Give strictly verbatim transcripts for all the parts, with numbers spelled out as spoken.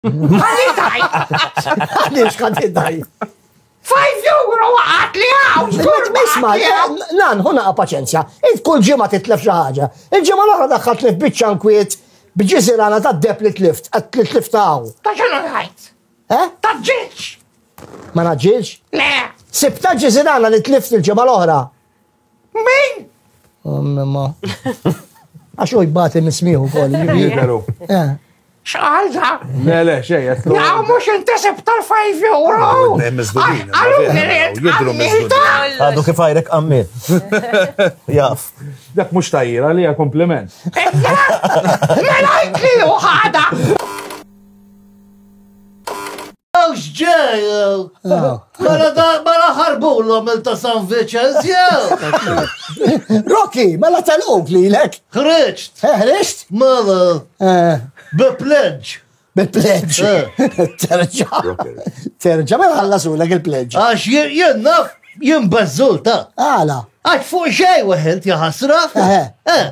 Ħalli tajt! Għaliex ħadd id-daj? Five euro waqgħet li hawn! żgur Isma, waqgħet li hawn. nan, huna paċenzja. Int kull ġimgħa titlef xi ħaġa. Il-ġimgħa l-oħra daħħalt li f'biċċa nkwiet b'ġiżirana ta' deb li tlift, għat li tlift hawn. Ta' x'inhu ngħid? Eh? Ta' ġiġ! Ma naġġilx? Le! Sibta ġiżirana li tlift il-ġimgħa l-oħra. Min? Omma. Għax u jbati mismiħu kol. Jidheru. Eh. X'qal da? Le, le, xejn, qed Ja, mhux inti sib tal-five euro! Tnejn miżdudin, Għallu vera, li int jidhru għamilta! Għadu kif għajrek għammil. Jaf. Dak mhux tajjira li hija kompliment. Mela jtli u ħada! Għawx ġej, mela da- mela ħarbulhom il ta' San Vicenz, jew. Rocky, mela tal-quk li lek. Ħriġt, Ħriġt? mela, Eh, bi pledge. Bil-pledge. Terġa. Terġa, mela ħallasulek il-pledge. Għax jien jien naf, jien beżżul ta' Għala. Għax fuq xej weħilt jaħasra. Eħe. Eh.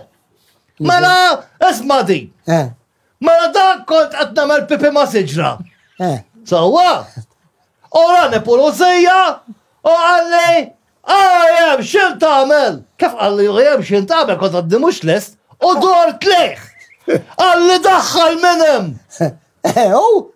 Mela, isma' di. Eh, Mela dak kont qed nagħmel pipi ma' siġra. eh. Sewwa. U rani pulizija u qalli, għajem, x'int tagħmel? Kif qalli għajem x'int tagħmel kont għadni mhux lest u dort lejh. Qalli daħħal minn hemm. Eh, u?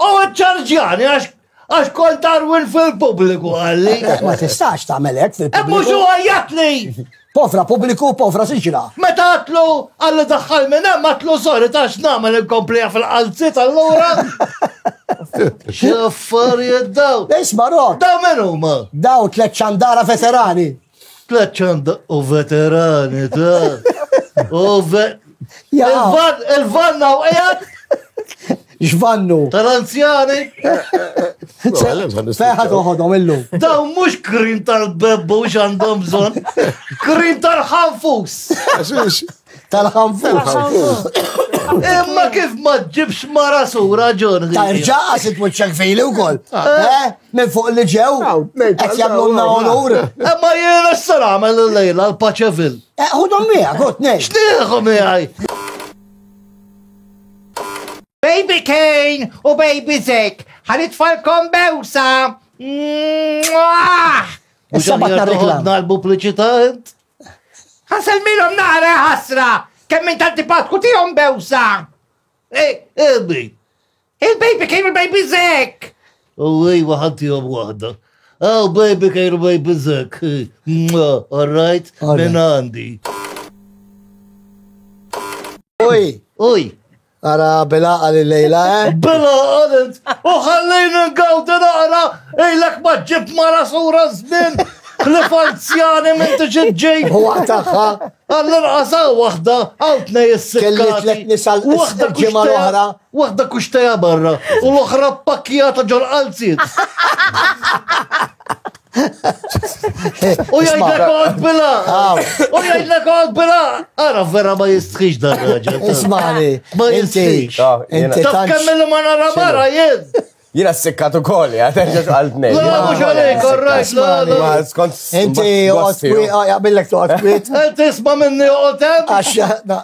U ċarġjani għax għax kont arwin fil-pubbliku qalli. Ma tistax tagħmel hekk E mhux fil-pubbliku. u għajjatli. Povra pubbliku, povra siġra. Meta għatlu għalli daħħal minn hemm għatlu sorry ta' x'nagħmel inkomplija fil-qalzit allura. X'affarijiet daw. Isma' Rock, Daw min huma? daw tliet ċandara veterani. Tlet ċanda u veterani ta' u ve. Ja. Il-van, il-vanna u qiegħed X'vannu. tal-anzjani. Feħa toħodhom illum. Daw mhux krim tal-bebbu x'għandhom bżonn. Krim tal-ħanfus. Tal-ħanfus. Imma kif ma ġibx mara sura ġon. Terġa' għasit wiċċek fili wkoll. Eh, minn fuq li ġew. Qed jagħmlulna onur. Imma jiena x'se nagħmel illejla l-Paċevil. Eh, ħudhom miegħek, ħud nej. X'nieħu miegħi? Baby Kane u Baby Zek, ħanitfalkom bewsa! Mwah! Issa batna reklam. Toħodna l-pubbliċità int? Ħanselmilhom naqra ħasra! Kemm minn antipatku tihom bewsa! Ej, Ebi. Il-Baby Kane u l-Baby Zek! U ejwa ħantihom waħda. Oh, baby Kane u baby Zek. Mwah, All right, All right. minn għandi. Uj, Uj, ara bilaqa li lejla, eh? Bela għalet, u ħallejna ngawdi naqra, ejlek ma ġib mara sura żmien, ħlif anzjani minn tiġi ġej. U tagħha Għall-inqas hawn waħda, hawn tnej is-sikkati. Kelli tliet nisa l- Waħda il-ġimgħa kuxteja- l-oħra. Waħda kuxteja barra, u l-oħra pakkjata ġol qalziet. U jgħidlek għod bila! Aw. U jgħidlek għod bila! Ara vera ma jistħix dan raġel. Ismani, Ma inti, jistħix. Ah, jiena- inti Taf tantx. kemm li ma nara mara jien! Jina s-sikkat u koll, ja, terġa għal tnejn. La, mhux għalik, all right, la, la. Ma skont. Inti oqgħod kwiet, jaqbillek toqgħod kwiet. Inti isma' minni oqgħod hemm, Għax na-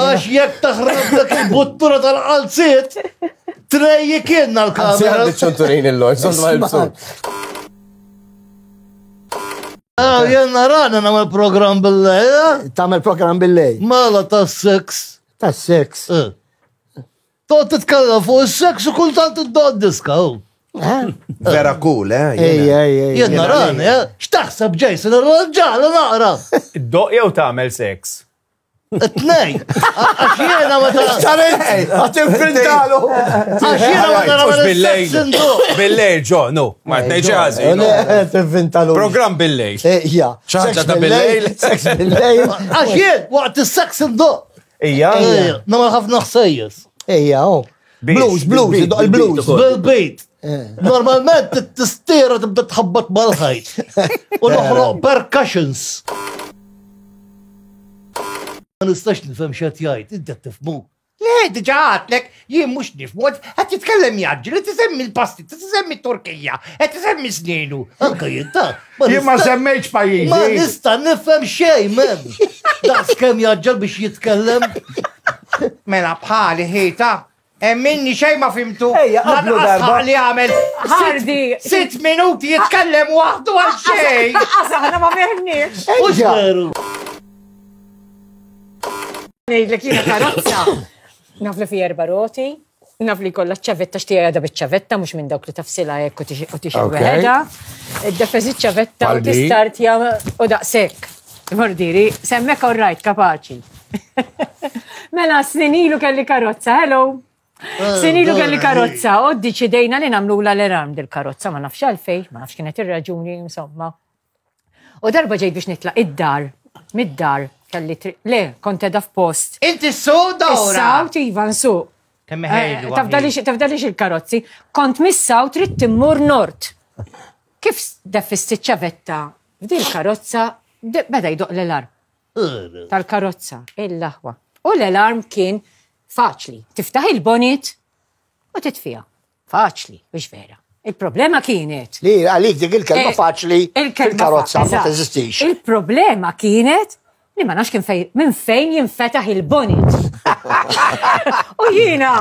għax jekk taħrab dak il-buttura tal-qalziet, trejji kienna Għanzi l-kamera. għandi ċunturin il-lor, sont ma jibsu. Ah, jien narana nagħmel programm bil-lejl, eh? Tagħmel program bil-lejl. Mela tas-seks. Tas-seks. Eh. Toqgħod titkellem fuq is-seks u kultant iddoq diska. hu. Eh? Vera cool, eh? Ej, jiena. ej, ej. Jien narani, eh? X'taħseb Jason, irranġala naqra. Doq jew tagħmel seks. Tnej. Għax jiena meta Xaret, għat infintalu. għax jiena meta Mhux nagħmel is-seks bil-lejl. indoq. Bil-lejl, ġo, no. Ma tnejx ħażin. no. Tinfintalu. Program bil-lejl. Ija. Xi ħaġa ta' bil-lejl. Seks bil-lejl. Għax jien waqt is-seks indoq. Ija. Ejja, Nagħmel ħafna ħsejjes. Ija, oh. Biex, Blues, blues, bil-beat, idoq il-blues. bil-beat ukoll. Bil-bejt. Normalment t-tistira tibda tħabbat mal-ħajt. U noħloq percussions. Ma nistax nifhem x'qed jgħid, inti qed tifhmu. Le, diġa għatlek, jien mhux nifhmu, qed jitkellem jaġġel, qed isemmi l-pasti, qed isemmi Turkija, qed isemmi sninu. Anka jien ta' Jien ma nista- semmejtx Ma pajjiżi. nista' nifhem xejn, men. Daqs kemm jaġġel biex jitkellem. Mela bħali ħita, Minni xejn ma fimtu. Ejja, qablu Lanqas darba. li għamel sitt- Ħardi. Sitt minuti jitkellem waħdu għal xejn. Qas aħna ma fehmniex. Mhux Ejja. veru. Ngħidlek jiena karozza. Naf li fi erba' roti, naf li kollha ċavetta xtija għadha biċ-ċavetta mhux minn dawk li tafsilha hekk u tixi u tixi Ok. weħeda. Id-defeżi ċavetta u Paldi. tistartja u daqshekk. Mordiri, semmek all right, kapaċi. Mela, snin ilu kelli karozza, hello. Snin ilu kelli karozza, u ddeċidejna li nagħmlu l-alarm dil-karozza, ma nafx għalfej, ma nafx kienet ir-raġuni, insomma. U darba ġejt biex nitlaq id-dar, mid-dar, kelli tri... Le, kont edha f'post. Inti s-suq dawra. Is-South, iva, nsuq. Kemm ħejlu. Tafdalix tafdalix il-karozzi. Kont mis-South trid timmur nord. Kif deffisti ċavetta f'dil karozza de- beda jdoq l-alarm tal-karozza, il-laħwa. U l-alarm kien faċli. Tiftaħ il-bonnet u titfija. Faċli, biex vera. Il-problema kienet Li għalik dik il-kelma Eh, faċli il-kelma fil-karozza fa- ma eżatt. teżistix. Il-problema kienet li ma nafx kien fej, minn fejn jinfetaħ il-bonnet. U jiena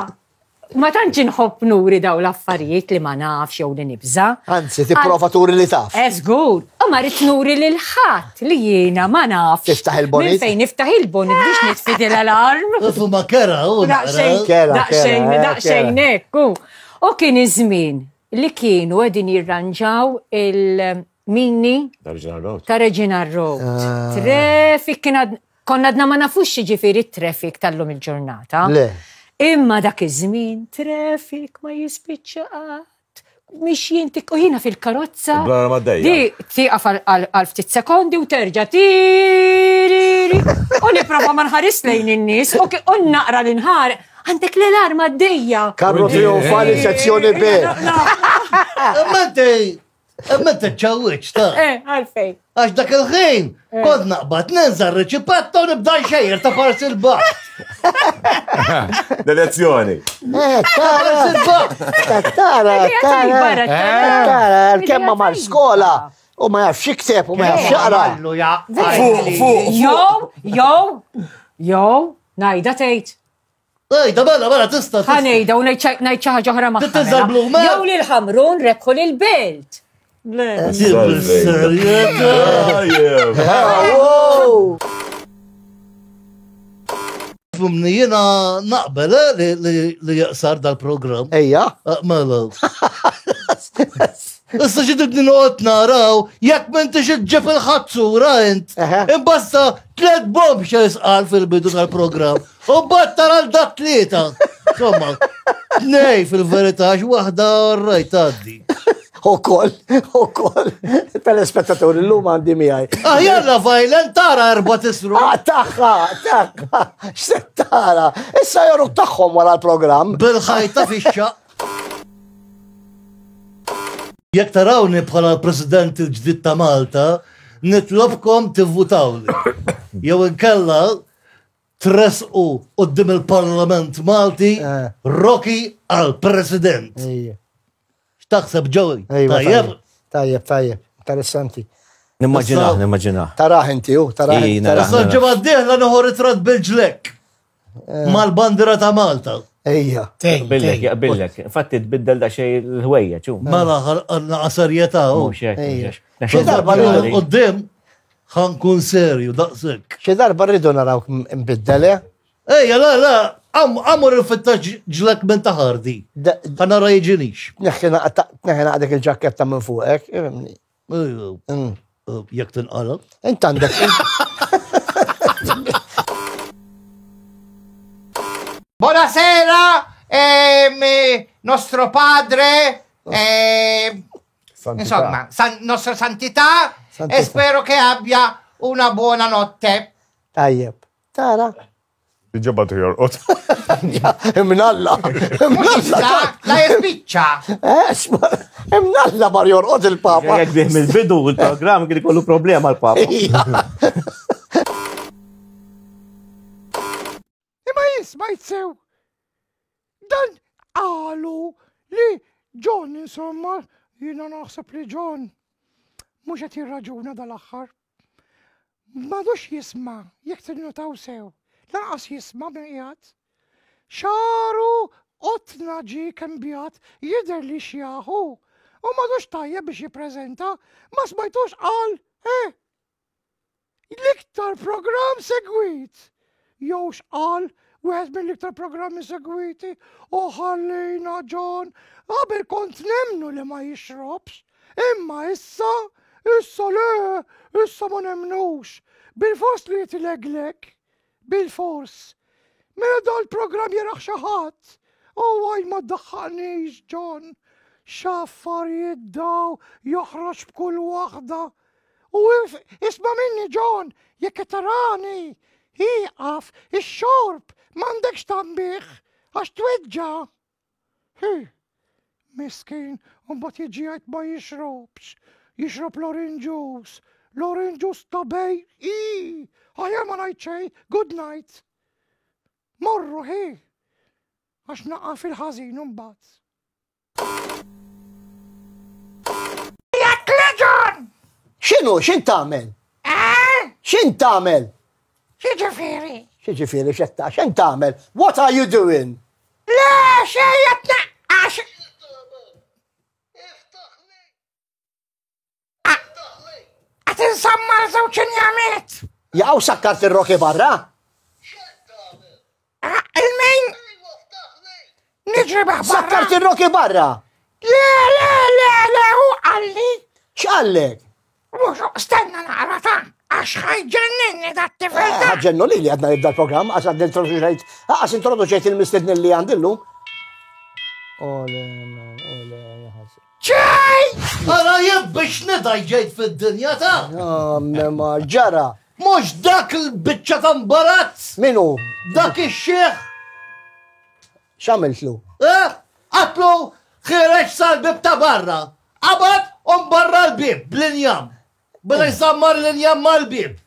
ma tantx inħobb nuri daw l-affarijiet li ma nafx jew li nibża. Anzi, tipprova turi li taf. Eżgur, u ma rrid nuri lil ħadd li jiena ma nafx. Tiftaħ il-bonnet? Minn fejn niftaħ il-bonnet biex nitfi l-alarm. Ufu ma kera, u Daqxejn, naqra. Kera, daqxejn, kera, eh, daqxejn hekk. U U kien iż-żmien li kienu qegħdin jirranġaw il-mini ta' Regina Road. Ah. Traffic kien għad- konna għadna ma nafux ġifieri traffic tal-lum il-ġurnata. Le. Imma dak iż-żmien traffic ma jispiċċa qatt. Mixjin tik u jiena fil-karozza. Bla ma dejja. Di tieqaf għal- għal għal ftit sekondi u terġa' tiriri. U nipprova ma nħares lejn in-nies u ki- u naqra l-inħar. Għandek l-alarm għaddejja. Karru trionfali sezzjoni B. Imma inti, imma inti ċawwiċ ta' Eh, għalfej. Għax dak il-ħin, kont naqbad ninżar riċipatta u nibda xejjer ta' parsi l-baħ. Delezzjoni. Eh, tara, Parsi l-baħ. tara, Idea tajba, tara. tara. Tara, l-kemma mar skola u ma jafx jikteb u ma jafx jaqra. Allu ja. Fuq, fuq. Jow, jow, jow, najda tgħid. Ej, da mela, mela, tista' tista'. Ħanejda u ngħid xi ħaġa oħra magħha. Tittiżar mela. blu, mela. Jew lil ħamrun rebħu lil belt. Le. Bis-serjetà. Wow! Fumni jiena naqbel eh, li- li li jaqsar dal-programm. Ejja. Ah, Mela. Issa xi tibni noqgħod naraw jekk m'intix iġġib il-ħazzura int. Eħe. Imbasta tliet bomb xe jisqal fil-bidu tal-programm. U mbagħad tara l dak tlieta. Insomma, tnej fil-verità għax waħda rajt tgħaddi. U koll, u koll. Telespettaturi l-lum għandi miegħi. Ah, jalla violent tara erba' tisru. Ah, taħħa, taħħa, x'se tara. Issa joruk tagħhom wara l-programm. Bil-ħajta fix-xaq. Jekk tarawni bħala l-President il-ġdid ta' Malta, nitlobkom tivvutawli. Jew inkella tresqu qudiem il-Parlament Malti Eh. Rocky għal President. Ejja. X'taħseb Joey? Ejwa, Tajjeb? Tajjeb, tajjeb, interessanti. Nimmaġinaħ, Issa- nimmaġinaħ. Taraħ inti, u, taraħ. Ej, taraħ. naraħ. Issa l-ġimgħa d-dieħla nieħu ritratt bil-ġlek mal-bandira ta' Malta. Ejja. Jaqbillek, jaqbillek. Infatti tbiddel da xej l-ħwejja, ċu. Mela ħalqna serjetà u. Mhux hekk, Ejja. mhux hekk. Xi darba Qudiem Qudiem ħankun serju daqshekk. Xi darba rridu narawk mbiddel, eh? Ejja, la, la, għamur il-fitta ġlek minn taħardi. Da- Għana rajġinix. Tneħħi naqa- tneħħi naqdek il-ġaketta minn fuqek. ifhimni. Mm. Jek tinqala. Int għandek. Buonasera, ehm, eh, nostro padre, eh, insomma, san- nostra santità, Santità. e spero che abbia una buona notte. Tajjeb. Tara. Ġabatu jorqot. Imnalla. Imnalla. La, la spiccia. Eh, isma' Imnalla mar jorqod il-papa. Jek bih mill-bidu il-programm kien ikollu problema l-papa. Ejja. Imma jisma' jitsew. Dan qalu li John, insomma, jiena naħseb li John mhux qed jirraġuna dal-aħħar. M'għadux jisma' jekk tinnotaw sew. Lanqas jisma' minn qiegħed. Xaru Qotna ġie kembjat jidher li xjaħu. U m'għadux tajjeb biex jippreżenta, ma smajtux qal, eh? L-iktar programm segwit. Jew x'qal wieħed mill-iktar programmi segwiti u ħallina John, qabel kont nemnu li ma jixrobx, imma issa, issa le, issa ma nemnux. Bil-fors li jitileglek, bil-fors. Mela dal-programm jaraħ xi ħadd. U għaj ma ddaħħaqnix, John. X'affarijiet daw joħroġ b'kull waħda. U isma' minni, John, jekk tarani, ieqaf ix-xorb m'għandekx tambih għax tweġġa'. Hi, miskin, u mbagħad jiġi jgħid ma jixrobx. Jixrob l-orange juice. L-orange juice ta' bej, i, aħjar ma ngħid xejn, good night. Morru, hi, għax naqa' fil-ħażin mbagħad. John! X'inhu, x'in tagħmel? Eh? X'in tagħmel? X'ġifieri? X'ġifieri x'qed x'in tagħmel? What are you doing? Le, xejn qed naqqax. Qed insammar żewġ injamiet. Jaqgħu sakkart ir-roki barra? Il-min? Niġri barra. Sakkart ir-roki barra? Le, le, le, le, hu qalli. X'qallek? Mhux stenna naqra ta' għax ħajġenninni dat-tifel ta'. Ħaġġennu li li għadna nibda l-programm, għax għadna introduċejt, għax introduċejt il-mistedni li għandillu. Ole, ole, jaħasib. Ċej! Ara jien biex nidaj ġejt fid-dinja ta'. Ma ġara. Mhux dak il-biċċa ta' imbarazz. Minu? Dak ix-xiħ. X'għamiltlu? Eh? Għatlu ħireġ sal-bib ta' barra. Qabad u barra l-bib bl-injam. Bada jsammar l-injam mal-bib.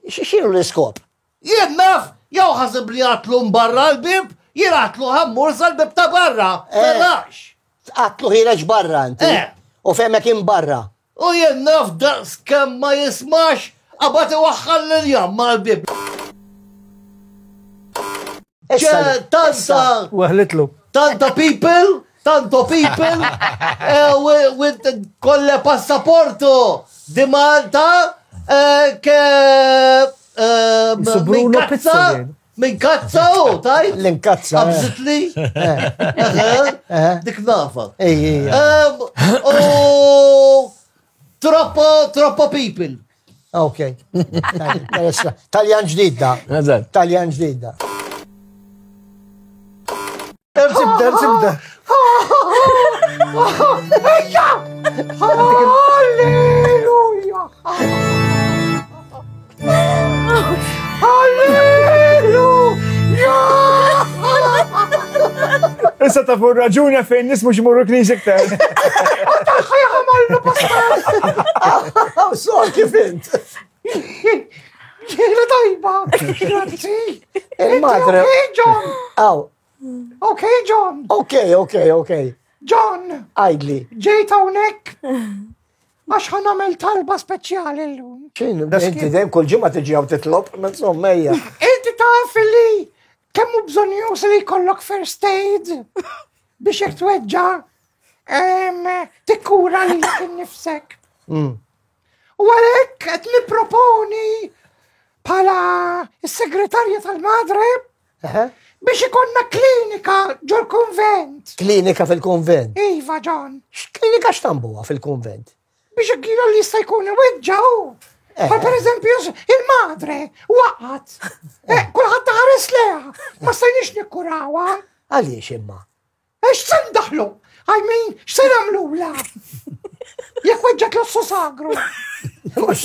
X'inhu l-iskop? Jien naf, jew ħasib li għatlu barra l-bib, jien għatlu ħammur sal-bib ta' barra. Telax. Għatlu ħireġ barra inti. U femmek barra. U jien naf daqs kemm ma jismax, qabad iwaħħal l-injam mal-bib. Tanta. Waħlitlu. Tanta people. Tanto people eh, with con le passaporto di Malta eh, che eh, minkazza minkazza u tajt l-inkazza qabżitli dik nafa. U troppo troppo people. Ok. Taljan ġdida. Taljan ġdida. Zibda, zibda. Ejja! Alleluja! Alleluja! Issa ta' fuq raġuni fejn nies mhux imorru knisja iktar. Taħħa jagħmallu pastor! Sor kif int? Ġiela tajba! Grazzi! Il-madre. John! Aw. Ok, John. Ok, ok, ok. John. Għajdli. Ġejt hawnhekk għax ħa nagħmel talba speċjali llum. X'inhu, inti dejjem kull ġimgħa tiġi hawn titlob, ma insomma ejja. Inti taf li kemm hu bżonn li jkollok first aid biex jekk tweġġa' tikkura lilek innifsek. U għalhekk qed nipproponi bħala s-segretarja tal-Madre biex ikonna klinika ġol-konvent. Klinika fil-konvent? Iva, John. X'klinika x'tambuha fil-konvent? Biex il-kilo li jista' jkun iweġġaw. Bħal per eżempju, il-madre waqgħet. Kulħadd ħares leha. Ma stajniex nikkurawha. Għaliex imma? X'se ndaħlu? I mean, x'se nagħmlula? Jekk weġġat l-ossu sagru. Mhux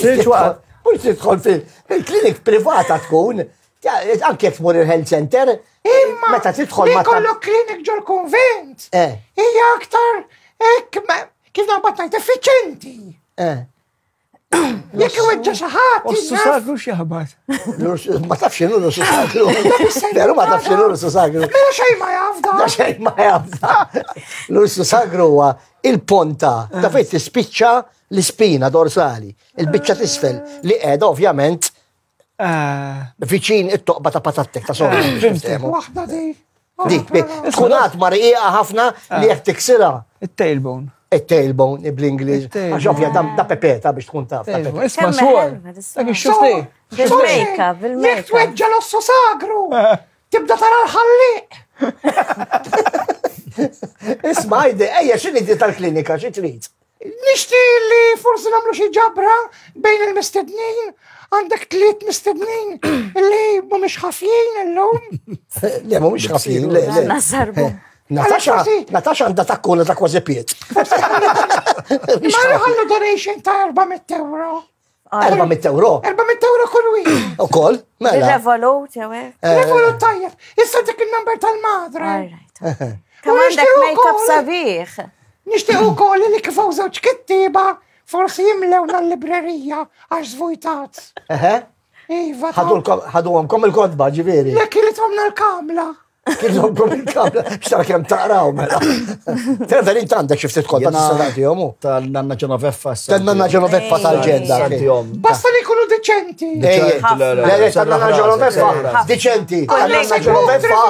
tidħol fil-klinik privata tkun. Anke jekk tmur il-health center, imma meta tidħol ma jkollok klinik ġol-konvent. Hija aktar hekk kif naqbad ngħid effiċenti. Jekk iweġġa' xi ħadd. Ossu sagru x'jaħbad. Ma tafx x'inhu l-ossu sagru. Veru ma tafx x'inhu l-ossu sagru. Mela xejn ma jaf da. Da xejn ma jaf da. L-ossu sagru huwa il-ponta ta' fejn tispiċċa l-ispina dorsali, il-biċċa tisfel li qiegħda ovvjament Viċin it-toqba ta' patattek ta' sorra. Waħda di. Dik, tkun għad marqiqa ħafna li jekk tiksirha. Il-tailbone. Il-tailbone, bl-Ingliż. Għax ovvja, da pepeta biex tkun taf. Isma' xogħol. Dak ix-xufti. Bil-makeup, bil-makeup. Jekk tweġġa l-ossu sagru, tibda tara l-ħalliq. Isma' ejja, ejja, x'inhi di tal-klinika, xi trid? Nixti li forsi nagħmlu xi ġabra bejn il-mistednin, għandek tliet mistednin li mhumiex ħafjin illum. Le, mhumiex ħafjin, le, le. Nasarbu. Natasha, Natasha għandha takkula ta' kważi piet. Ma nħallu donation ta' erba' mitt euro. Erba' mitt euro? Erba' mitt euro kull wieħed. Ukoll, mela. Revolut, jew hekk. Revolut tajjeb. Issa dik il-number tal-madre. Kemm għandek make-up sabiħ. Nixtieq ukoll li kif hawn żewġ kittieba forsi jimlewna l-librerija għax żvujtat. Eħe. Iva. Ħaduhomkom il-kotba, ġifieri. Le kilithomna l-kamla. Kilithomkom il-kamla, x'tara kemm taqraw mela. Trevor, int għandek xi ftit kotba tista' tagħtihom hu. Tal-Nanna Ġenoveffa. Tan-Nanna Ġenoveffa tal-ġenda. Basta li jkunu deċenti. Le, le, tan-Nanna Ġenoveffa, deċenti. Tan-Nanna Ġenoveffa,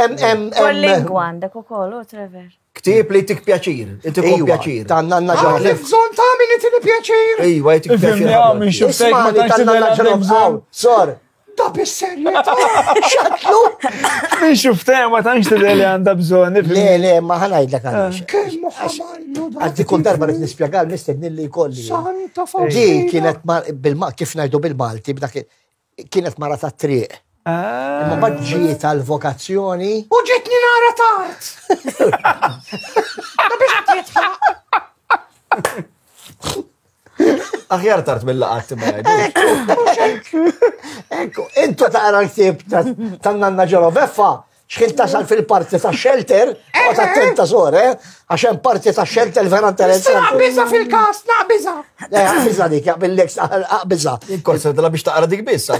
em, em, em. Kull lingwa għandek ukoll, u Trevor. Ktieb li jtik pjaċir, jtik pjaċir. Tan-Nanna Għandek Ġenoveffa. bżonn ta' min itini pjaċir. Ejwa, jtik pjaċir. Minn xuftek ma Ismani tantx tan-Nanna tidher għandek Ġenoveffa. bżonn. Sor. Da bis-serjetà. Xatlu? Minn xuftek ma tantx tidher li għandha bżonn. Le, le, ma ħanajdlek għaliex. Kemm ħamallu da. Għaddi kull darba rrid nispjega l-mistednin li jkolli. Santa Di Faustina. kienet kif ngħidu bil-Malti, b'dak kienet mara ta' triq. Imma mbagħad ġiet għall-vokazzjoni. U ġietni nara tard. Da biex titħaq. Aħjar tard mill-laqat ma jgħidux. Ekku, intu taqra l-ktieb tan-Nanna Ġenoveffa, x'ħin tasal fil-parti ta' shelter, u ta' attenta sor, eh? Għax hemm parti ta' shelter vera interessanti. Naqbiża fil-każ, naqbiża. Le, aqbiża dik, jaqbillek, aqbiża. Inkorsa dela biex taqra dik biss.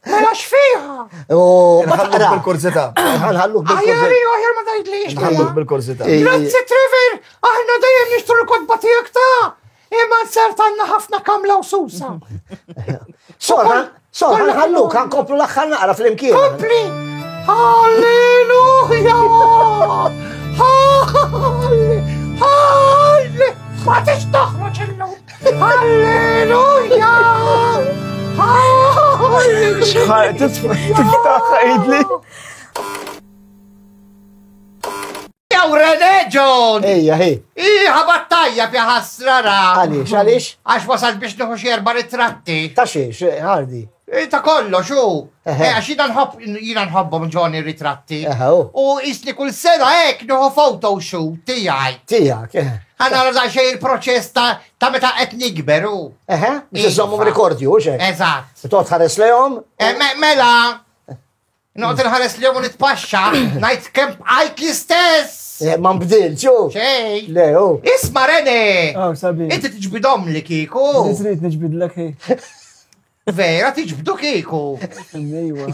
Mela x'fiha? U ma Nħalluk taqra. bil-kurzità. Nħalluk Aħjar bil-kurzità. jew aħjar ma tgħidlix. Nħalluk bil-kurzità. Grazzi Trevor, aħna dejjem nixtru l-kotba tiegħek ta' imma nsert għandna ħafna kamla u susa. Sor, sor, nħalluk, ħankomplu l-aħħar naqra fl-imkien. Kompli! Halleluja! Halle! Halle! Ma tix toħroġ illum! Halleluja! Halleluja! Tiftaħ għidli. Jew René John! Ejja, hej. Iħa battajja fi ħasra ra. Għaliex, għaliex? Għax wasalt biex nieħu xi erba' ritratti. Ta' xiex, ħardi. Ta' kollox, u. Eħe. Għax jiena nħobb jiena nħobbhom Johnny ritratti. Eħe, u. U jisni kull sena hekk nieħu photo shoot tiegħi. Tiegħek, eħe. Ħa nara daqsxejn il-proċess ta' ta' meta qed nikber u. Eħe, biex iżommhom Iva. rekordju, u xek. Eżatt. Toqgħod ħares lejhom. Eh, me- Mela, noqgħod inħares lejhom u nitpaxxa, ngħid kemm bqajt l-istess. Eh, Ma nbdilx, u. Xejn. Le, u. Isma' René! Oh, sabiħ. Inti tiġbidhom li kieku. Li trid niġbidlek hi. Vera tiġbdu kieku. Ejwa.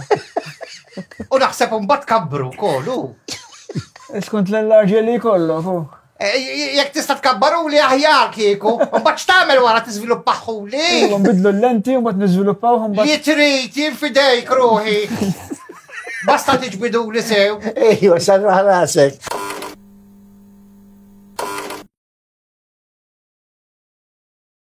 U naħseb imbagħad kabbru wkoll u. Skont l-enlarġi li jkollok, u. Eh, Jekk tista' tkabbaru li aħjar kieku, mbagħad x'tagħmel wara tiżviluppaħu li? Ejwa, nbidlu l-lenti u mbagħad niżviluppaw mbagħad. Li trid jien fidejk ruħi. Basta tiġbidu li sew. Ejwa, sarraħ rasek.